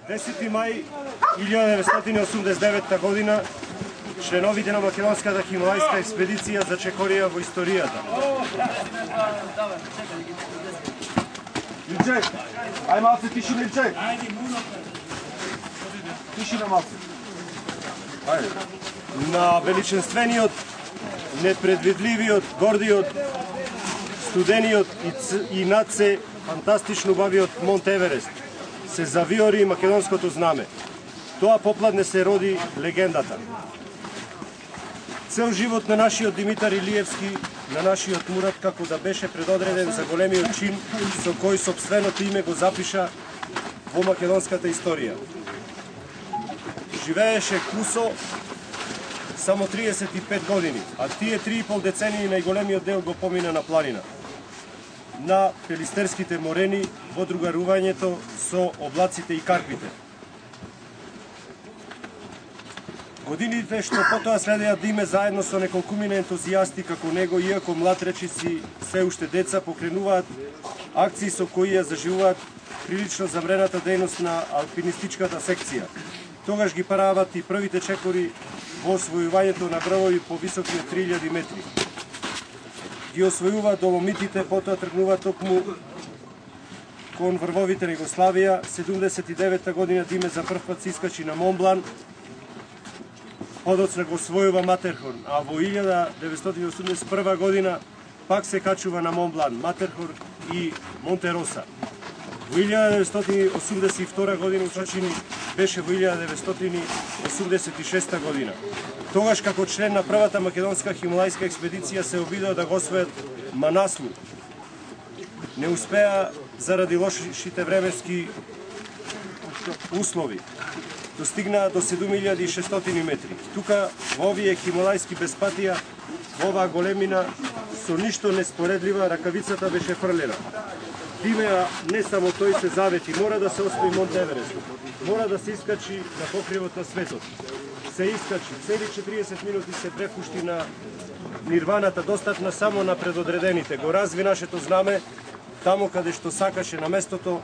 10. мај 1989 година членовите на македонската хималајска експедиција зачекорија во историјата. Илчек, ај малце тишина, Илчек. Тишина малце. Ајде. На величенствениот, непредвидливиот, гордиот, студениот и над се фантастично убавиот Монт Еверест се завиори македонското знаме. Тоа попладне се роди легендата. Цел живот на нашиот Димитар Илиевски, на нашиот Мурат, како да беше предодреден за големиот чин со кој сопственото име го запиша во македонската историја. Живееше кусо само 35 години, а тие 3,5 децении најголемиот дел го помина на планина. На пелистерските морени во другарувањето со облаците и карпите. Годините што потоа следеа да име заедно со неколкумина ентузијасти како него, иако млад речиси се уште деца, покренуваат акции со кои ја заживуваат прилично замрената дејност на алпинистичката секција. Тогаш ги прават и првите чекори во освојувањето на врвови повисоки од 3000 метри. Ги освојуваат доломитите, потоа тргнуваат токму кон врвовите на Југославија. 79 година Диме за прв пат се искачи на Монблан, подоцна го освојува Матерхорн, а во 1981 година пак се качува на Монблан, Матерхорн и Монтероса. Во 1982 година усочени беше во 1986 година. Тогаш како член на првата македонска хималајска експедиција се обидува да го освојат Манаслу. Не успеа заради лошите временски услови. Достигнаа до 7600 метри. Тука во овие хималајски безпатија, во оваа големина, со ништо неспоредлива, ракавицата беше фрлена. Диме, не само тој се завети, мора да се освои Монт Еверест, мора да се искачи на покривот на светот. Се искачи, цели 40 минути се препушти на нирваната, достатна само на предодредените. Го разви нашето знаме, таму каде што сакаше на местото,